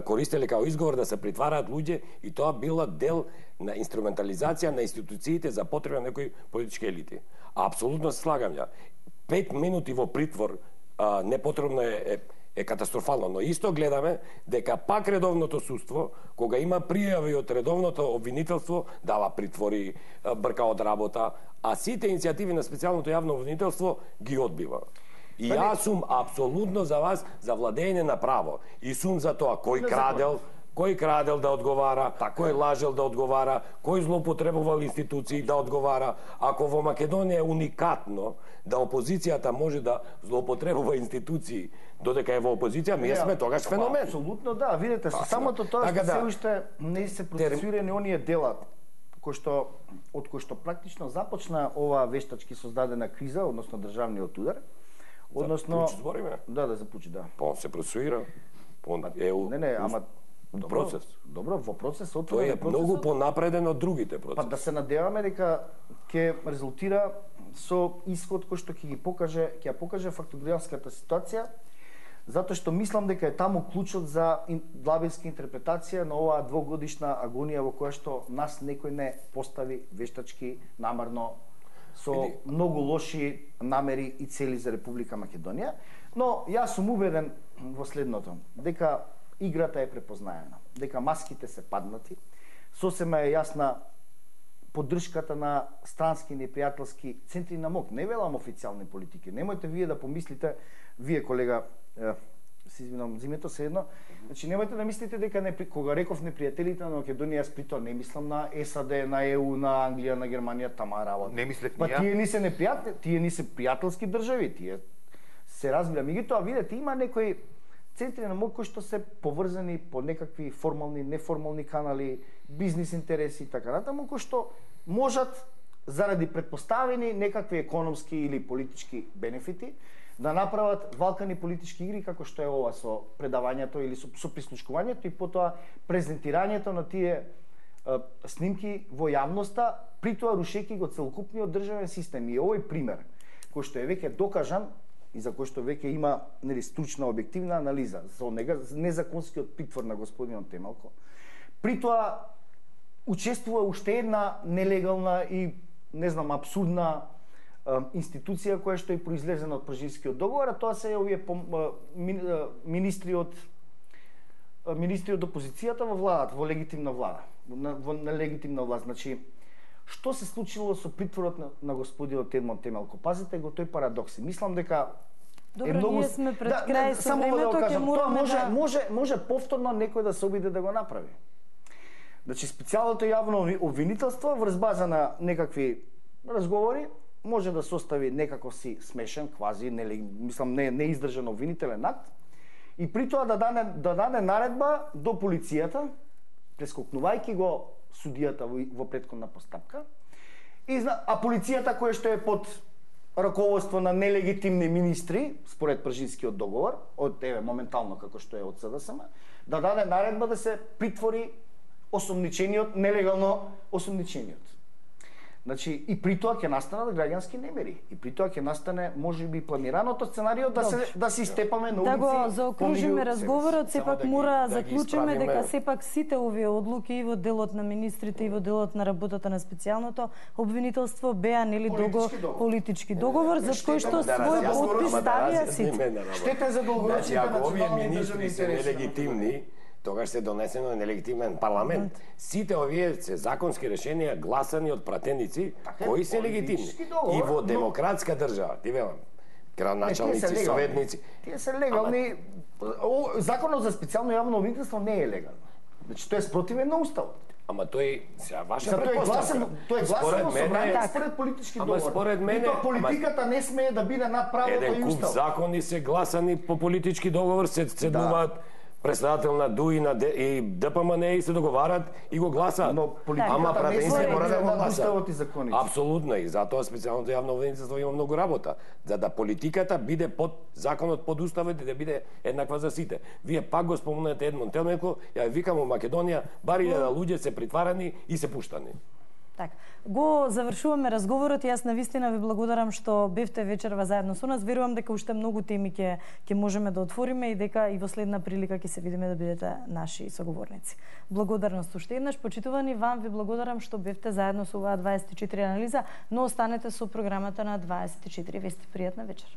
[SPEAKER 2] користеле као изговор да се притвараат луѓе, и тоа била дел на инструментализација на институциите за потреба на некои политички елити. Апсолутно се слагам ја. 5 минути во притвор непотребно е катастрофално, но исто гледаме дека пак редовното судство, кога има пријави од редовното обвинителство, дава притвори, брка од работа, а сите иницијативи на специјалното јавно обвинителство ги одбива. И јас сум апсолутно за вас за владење на право. И сум за тоа кој крадел да одговара, кој лажел да одговара, кој злоупотребувал институции да одговара. Ако во Македонија е уникатно да опозицијата може да злоупотребува институции додека е во опозиција, ние сме тогаш феномен.
[SPEAKER 3] Апсолутно да, видете, со самото тоа што се уште не се процесирани оние дела од кои што практично започна оваа вештачки создадена криза, односно државниот удар. Односно
[SPEAKER 2] за збориме?
[SPEAKER 3] Да, за Пучи, да.
[SPEAKER 2] Па се процесуира.
[SPEAKER 3] Не, ама
[SPEAKER 2] процес.
[SPEAKER 3] Добро, во процес
[SPEAKER 2] тој е многу понапреден од другите процеси.
[SPEAKER 3] Па да се надеваме дека ќе резултира со исход кој што ќе ја покаже фактографската ситуација, затоа што мислам дека е таму клучот за длабинска интерпретација на оваа двогодишна агонија во која што нас некој не постави вештачки намерно со многу лоши намери и цели за Република Македонија, но јас сум убеден во следното, дека играта е препознаена, дека маските се паднати, сосема е јасна поддршката на странски непријателски центри на МОК, не велам официјални политики. Немојте вие да помислите, вие колега, се извинувам, зимето се едно, значи немојте да мислите дека кога реков непријателите на Македонија, јас при тоа не мислам на САД, на ЕУ, на Англија, на Германија, тама работа.
[SPEAKER 4] Не мислев
[SPEAKER 3] ни ја. Па тие не се непријатели, тие не се пријателски држави, тие се разбира. Меѓутоа, видете, има некои центри на МОК кои што се поврзани по некакви формални, неформални канали, бизнис интереси и така натаму, кои што можат заради предпоставени некакви економски или политички бенефити да направат валкани политички игри како што е ова со предавањето или со прислушкувањето и потоа презентирањето на тие снимки во јавноста, при тоа рушејќи го целокупниот државен систем. И овој пример кој што е веќе докажан и за кој што веќе има стручна објективна анализа за незаконскиот притвор на господинот Темелко, при тоа учествува уште една нелегална и апсурдна институција која што е произлезена од Пржинскиот договор, а тоа се овие министри од опозицијата во владата, во легитимна влада, на легитимна власт. Значи, што се случило со притворот на господинот Едмон Темелко? Пазите го тој парадокс. Мислам дека
[SPEAKER 1] Добро, ние сме пред крај со времето, ќе мораме
[SPEAKER 3] да... Може повторно некој да се обиде да го направи. Значи, специјалното јавно обвинителство врз база на некакви разговори може да состави некако си смешен, квази, не издржан обвинителен акт и при тоа да даде наредба до полицијата, прескокнувајќи го судијата во претходна постапка, а полицијата која што е под раководство на нелегитимни министри, според Пржинскиот договор, од моментално како што е од СДСМ, да даде наредба да се притвори осомничениот, нелегално осомничениот. Значи, и при тоа ќе настанат граѓански немири. И при тоа ќе настане, можеби, планираното сценарио да се истепаме на улици.
[SPEAKER 1] Да го заокружиме разговорот, сепак мора заклучиме дека сепак сите овие одлуки и во делот на министрите и во делот на работата на специјалното обвинителство беа нели политички договор за кој што свој подпис ставија сите.
[SPEAKER 3] Штета за долгорочните национални
[SPEAKER 2] министри се нелегитимни, тогаш се донесено нелегитимен парламент. Сите овие се законски решенија гласани од пратеници кои се легитимни. И во демократска држава, ти велам, градоначалници, советници.
[SPEAKER 3] Тие се легални. Законот за специјално јавно обвинителство не е легално. Значи тоа е спротивен на уставот.
[SPEAKER 2] Ама тој сега ваша претпоставка.
[SPEAKER 3] Тој е гласено собрание според политички договор.
[SPEAKER 2] Ама според мене,
[SPEAKER 3] политиката не смее да биде над правото и уставот.
[SPEAKER 2] Еден куп закони се гласани по политички договор, се седнуваат председател на ДУИ и ДПМН и се договарат и го гласаат.
[SPEAKER 3] Но политиката не се мора да го уставот и законите.
[SPEAKER 2] Апсолутно, и затоа специјалното јавно обвинителство има многу работа, за да политиката биде под законот, под уставот и да биде еднаква за сите. Вие пак го спомнете Едмон Телменко, ја викам у Македонија, бари да луѓе се притварани и се пуштани.
[SPEAKER 1] Така, го завршуваме разговорот и јас навистина ви благодарам што бевте вечерва заедно со нас. Верувам дека уште многу теми ќе можеме да отвориме и дека и во следна прилика ќе се видиме да бидете наши соговорници. Благодарност уште еднаш, почитувани, вам ви благодарам што бевте заедно со оваа 24 анализа, но останете со програмата на 24 вести. Пријатна вечер.